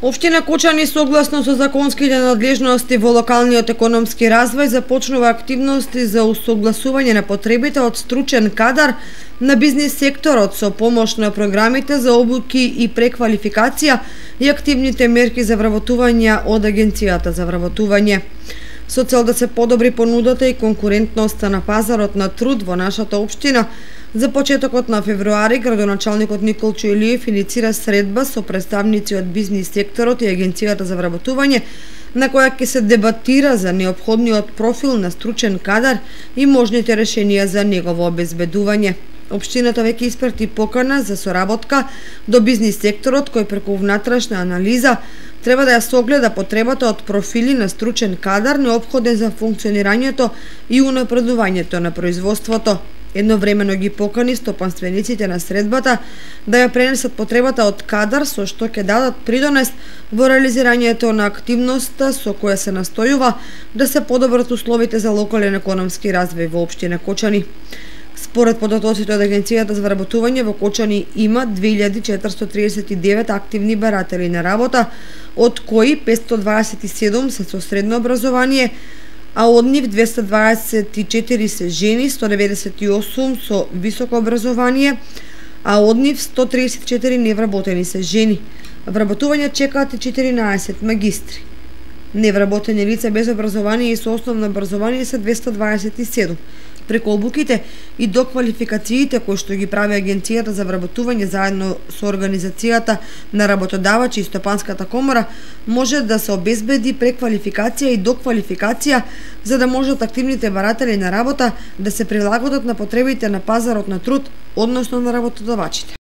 Општина Кочани согласно со законските надлежности во локалниот економски развој започнува активности за усогласување на потребите од стручен кадар на бизнис секторот со помош на програмите за обуки и преквалификација и активните мерки за вработување од Агенцијата за вработување. Со цел да се подобри понудата и конкурентноста на пазарот на труд во нашата општина, за почетокот на февруари градоначалникот Николчо Илиев иницира средба со представници од бизнис секторот и Агенцијата за вработување, на која ќе се дебатира за неопходниот профил на стручен кадар и можните решенија за негово обезбедување. Општината веќе испрати покана за соработка до бизнис секторот, кој преку внатрешна анализа треба да ја согледа потребата од профили на стручен кадар неопходен за функционирањето и унапредувањето на производството. Едновремено ги покани стопанствениците на средбата да ја пренесат потребата од кадар со што ќе дадат придонес во реализирањето на активноста со која се настојува да се подобрат условите за локален економски развој во општина Кочани. Според податоците од Агенцијата за вработување во Кочани има 2439 активни баратели на работа, од кои 527 се со средно образование, а од нив 224 се жени, 198 со високо образование, а од нив 134 невработени се жени. Вработување чекаат и 14 магистри. Невработени лица без образование и со основно образование се 227. Преку обуките и доквалификациите кои што ги прави Агенцијата за вработување заедно со организацијата на работодавачи и Стопанската комора, може да се обезбеди преквалификација и доквалификација за да можат активните баратели на работа да се прилагодат на потребите на пазарот на труд, односно на работодавачите.